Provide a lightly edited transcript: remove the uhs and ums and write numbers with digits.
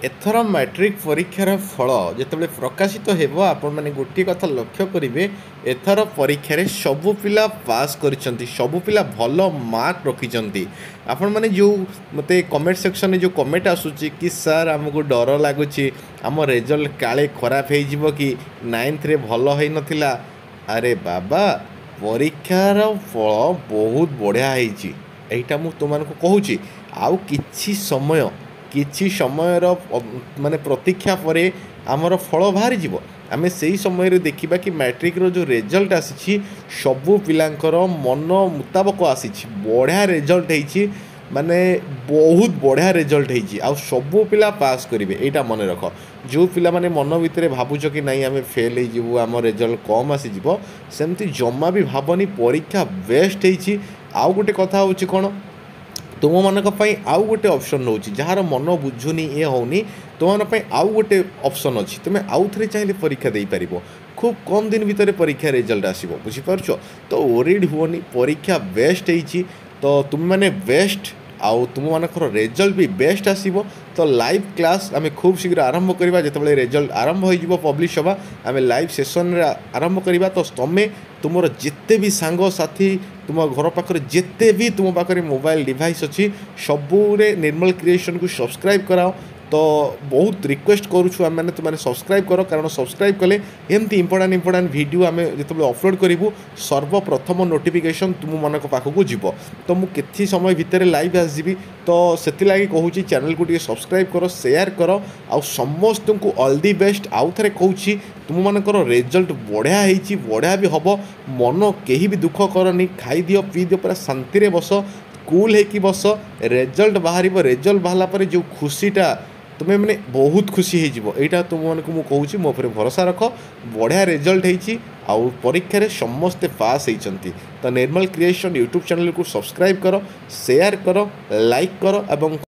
ଏଥର ମାଟ୍ରିକ ପରୀକ୍ଷାର ଫଳ ଯେତେବେଳେ ପ୍ରକାଶିତ ହେବ, ଆପଣମାନେ ଗୋଟିଏ କଥା ଲକ୍ଷ୍ୟ କରିବେ, ଏଥର ପରୀକ୍ଷାରେ ସବୁ ପିଲା ପାସ୍ କରିଛନ୍ତି, ସବୁ ପିଲା ଭଲ ମାର୍କ ରଖିଛନ୍ତି। ଆପଣମାନେ ଯେଉଁ ମୋତେ କମେଣ୍ଟ ସେକ୍ସନରେ ଯେଉଁ କମେଣ୍ଟ ଆସୁଛି କି ସାର୍, ଆମକୁ ଡର ଲାଗୁଛି, ଆମ ରେଜଲ୍ଟ କାଳେ ଖରାପ ହେଇଯିବ କି, ନାଇନ୍ଥରେ ଭଲ ହେଇନଥିଲା। ଆରେ ବାବା, ପରୀକ୍ଷାର ଫଳ ବହୁତ ବଢ଼ିଆ ହେଇଛି, ଏଇଟା ମୁଁ ତୁମମାନଙ୍କୁ କହୁଛି। ଆଉ କିଛି ସମୟର ମାନେ ପ୍ରତୀକ୍ଷା ପରେ ଆମର ଫଳ ବାହାରିଯିବ। ଆମେ ସେଇ ସମୟରେ ଦେଖିବା କି ମ୍ୟାଟ୍ରିକ୍ର ଯେଉଁ ରେଜଲ୍ଟ ଆସିଛି, ସବୁ ପିଲାଙ୍କର ମନ ମୁତାବକ ଆସିଛି, ବଢ଼ିଆ ରେଜଲ୍ଟ ହେଇଛି, ମାନେ ବହୁତ ବଢ଼ିଆ ରେଜଲ୍ଟ ହେଇଛି ଆଉ ସବୁ ପିଲା ପାସ୍ କରିବେ, ଏଇଟା ମନେ ରଖ। ଯେଉଁ ପିଲାମାନେ ମନ ଭିତରେ ଭାବୁଛ କି ନାଇଁ, ଆମେ ଫେଲ୍ ହେଇଯିବୁ, ଆମ ରେଜଲ୍ଟ କମ୍ ଆସିଯିବ, ସେମିତି ଜମା ବି ଭାବନି। ପରୀକ୍ଷା ବେଷ୍ଟ ହେଇଛି। ଆଉ ଗୋଟେ କଥା ହେଉଛି କ'ଣ, ତୁମମାନଙ୍କ ପାଇଁ ଆଉ ଗୋଟେ ଅପସନ୍ ରହୁଛି। ଯାହାର ମନ ବୁଝୁନି, ଇଏ ହେଉନି, ତୁମମାନଙ୍କ ପାଇଁ ଆଉ ଗୋଟେ ଅପସନ୍ ଅଛି। ତୁମେ ଆଉ ଥରେ ଚାହିଁଲେ ପରୀକ୍ଷା ଦେଇପାରିବ। ଖୁବ୍ କମ୍ ଦିନ ଭିତରେ ପରୀକ୍ଷା ରେଜଲ୍ଟ ଆସିବ, ବୁଝିପାରୁଛ ତ? ୱରିଡ୍ ହୁଅନି, ପରୀକ୍ଷା ବେଷ୍ଟ ହେଇଛି ତ ତୁମେମାନେ ବେଷ୍ଟ ଆଉ ତୁମମାନଙ୍କର ରେଜଲ୍ଟ ବି ବେଷ୍ଟ ଆସିବ। ତ ଲାଇଭ୍ କ୍ଲାସ୍ ଆମେ ଖୁବ୍ ଶୀଘ୍ର ଆରମ୍ଭ କରିବା। ଯେତେବେଳେ ରେଜଲ୍ଟ ଆରମ୍ଭ ହୋଇଯିବ, ପବ୍ଲିଶ ହେବା, ଆମେ ଲାଇଭ୍ ସେସନ୍ରେ ଆରମ୍ଭ କରିବା। ତ ତୁମେ ତୁମର ଯେତେ ବି ସାଙ୍ଗସାଥି, ତୁମ ଘର ପାଖରେ ଯେତେ ବି ତୁମ ପାଖରେ ମୋବାଇଲ ଡିଭାଇସ୍ ଅଛି, ସବୁରେ ନିର୍ମଲ କ୍ରିଏସନ୍କୁ ସବସ୍କ୍ରାଇବ୍ କରାଅ। ତ ବହୁତ ରିକ୍ୱେଷ୍ଟ କରୁଛୁ ଆମେମାନେ, ତୁମେ ସବସ୍କ୍ରାଇବ୍ କର, କାରଣ ସବସ୍କ୍ରାଇବ୍ କଲେ ଏମିତି ଇମ୍ପୋର୍ଟାଣ୍ଟ ଇମ୍ପୋର୍ଟାଣ୍ଟ ଭିଡ଼ିଓ ଆମେ ଯେତେବେଳେ ଅପଲୋଡ଼ କରିବୁ, ସର୍ବପ୍ରଥମ ନୋଟିଫିକେସନ୍ ତୁମମାନଙ୍କ ପାଖକୁ ଯିବ। ତ ମୁଁ କିଛି ସମୟ ଭିତରେ ଲାଇଭ୍ ଆସିଯିବି, ତ ସେଥିଲାଗି କହୁଛି, ଚ୍ୟାନେଲକୁ ଟିକେ ସବସ୍କ୍ରାଇବ୍ କର, ସେୟାର କର ଆଉ ସମସ୍ତଙ୍କୁ ଅଲ୍ the best. ଆଉ ଥରେ କହୁଛି, ତୁମମାନଙ୍କର ରେଜଲ୍ଟ ବଢ଼ିଆ ହେଇଛି, ବଢ଼ିଆ ବି ହେବ। ମନ କେହି ବି ଦୁଃଖ କରନି, ଖାଇଦିଅ, ପିଇଦିଅ, ପୁରା ଶାନ୍ତିରେ ବସ, କୁଲ୍ ହେଇକି ବସ। ରେଜଲ୍ଟ ବାହାରିବ, ରେଜଲ୍ଟ ବାହାରିଲା ପରେ ଯେଉଁ ଖୁସିଟା, ତୁମେ ମାନେ ବହୁତ ଖୁସି ହେଇଯିବ। ଏଇଟା ତୁମମାନଙ୍କୁ ମୁଁ କହୁଛି, ମୋ ଉପରେ ଭରସା ରଖ। ବଢ଼ିଆ ରେଜଲ୍ଟ ହେଇଛି ଆଉ ପରୀକ୍ଷାରେ ସମସ୍ତେ ପାସ୍ ହେଇଛନ୍ତି। ତ ନିର୍ମଲ କ୍ରିଏସନ୍ ୟୁଟ୍ୟୁବ୍ ଚ୍ୟାନେଲକୁ ସବସ୍କ୍ରାଇବ୍ କର, ସେୟାର କର, ଲାଇକ୍ କର ଏବଂ